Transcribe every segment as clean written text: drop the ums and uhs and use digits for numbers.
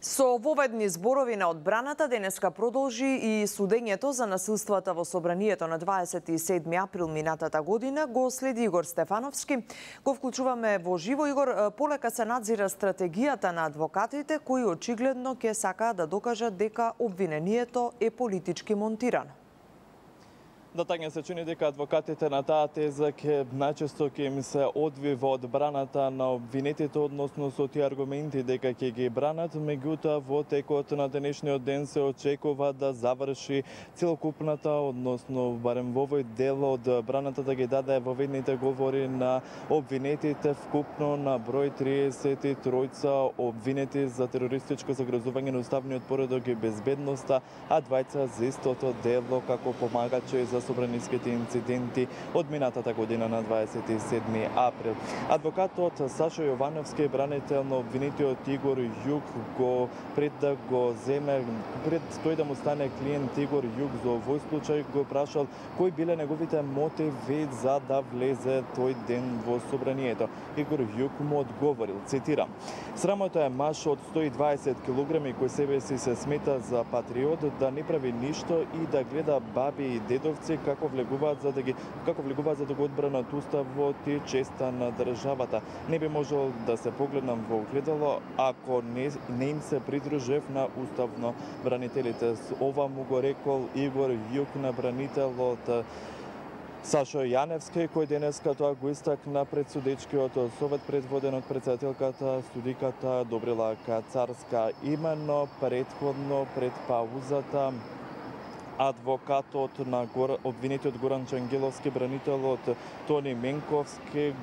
Со воведни зборови на одбраната денеска продолжи и судењето за насилствата во собранието на 27 април минатата година. Го следи Игор Стефановски. Го вклучуваме во живо. Игор, полека се надзира стратегијата на адвокатите кои очигледно ќе сакаат да докажат дека обвинението е политички монтирано. Да, Тања, се чини дека адвокатите на таа теза најчесто ќе им се одвива одбраната на обвинетите, односно со тие аргументи дека ќе ги бранат, меѓутоа во текот на денешниот ден се очекува да заврши целокупната, односно барем во овој дел од браната да ги даде воведните говори на обвинетите, вкупно на број 33 обвинети за терористичко загрозување на уставниот поредок и безбедноста, а двајца за истото дело како помагачи за собраниските инциденти од минатата година на 27 април. Адвокатот Сашо Јовановски, бранител на обвинетиот Игор Јук, го пред да го земе, пред тој да му стане клиент Игор Јук за овој случај, го прашал кои биле неговите мотиви за да влезе тој ден во собранието. Игор Јук му одговорил, цитирам: "Срамота е маж од 120 килограми кој себе си се смета за патриот, да не прави ништо и да гледа баби и дедовци како влегуваат за да го одбранат уставот и честа на државата. Не би можел да се погледнам во огледало ако не им се придружев на уставно бранителите." Ова му го рекол Игор Јук на бранителот Сашо Јаневски, кој денеска тоа го истакна пред судечкиот совет предводен од претседателката судиката Добрила Кацарска. Именно предходно пред паузата адвокатот на обвинетиот Горан Чангеловски, бранителот Тони Менковски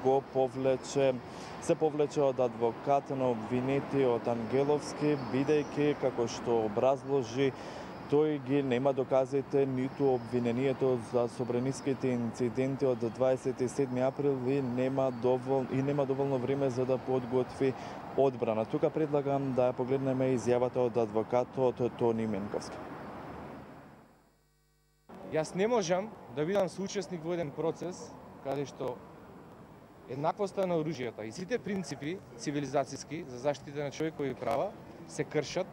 се повлече од адвокат на обвинетиот Ангеловски, бидејќи, како што образложи, тој ги нема доказите ниту обвинението за собраниските инциденти од 27 април и нема доволно време за да подготви одбрана. Тука предлагам да ја погледнеме изјавата од адвокатот Тони Менковски. Јас не можам да бидам соучесник во еден процес каде што еднаквоста на оружјата и сите принципи цивилизацијски за заштита на човекови права се кршат.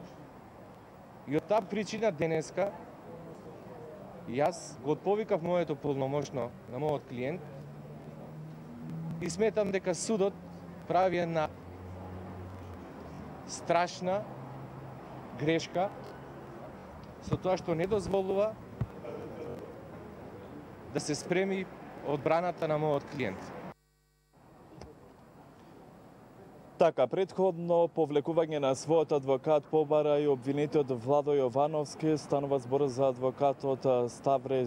И од таа причина денеска јас го отповикав моето полномошно на мојот клиент и сметам дека судот прави една страшна грешка со тоа што не дозволува да се спреми одбраната на мојот клиент. Така, предходно повлекување на својот адвокат побара и обвинетиот Владо Јовановски. Станува збор за адвокатот Ставре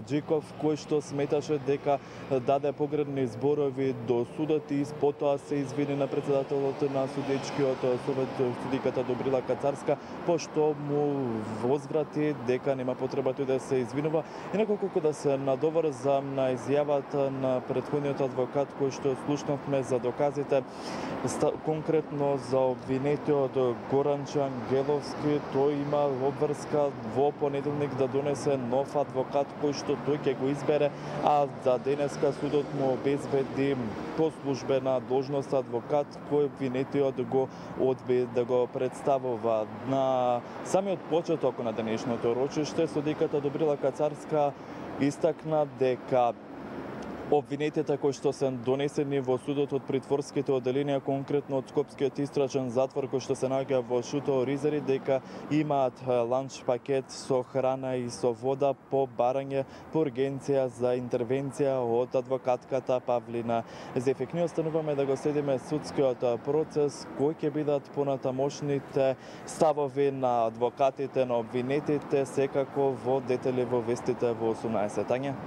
Џиков, кој што сметаше дека даде погрешни зборови до судот и потоа се извини на претседателот на судечкиот совет судиката Добрила Кацарска, пошто му возврати дека нема потреба тој да се извинува. Инаку колку да се надоврзам на изјавата на претходниот адвокат кој што слушнавме за доказите, конкретно за обвинетиот Горан Чангеловски, тој има обврска во понеделник да донесе нов адвокат кој што тој ќе го избере, а за денеска судот му обезбеди по службена должност адвокат кој обвинетиот го одби да го представува. На самиот почеток на денешното рочиште судиката Добрила Кацарска истакна дека обвинетите кои што се донесени во судот од притворските оделенија, конкретно од Скопскиот истрачен затвор кој што се наоѓа во Шуто Оризари, дека имаат ланч пакет со храна и со вода по барање по ургенција за интервенција од адвокатката Павлина Зефик. Ние остануваме да го следиме судскиот процес, кои ќе бидат понатамошните ставови на адвокатите на обвинетите, секако во детали во вестите во 18. Тања.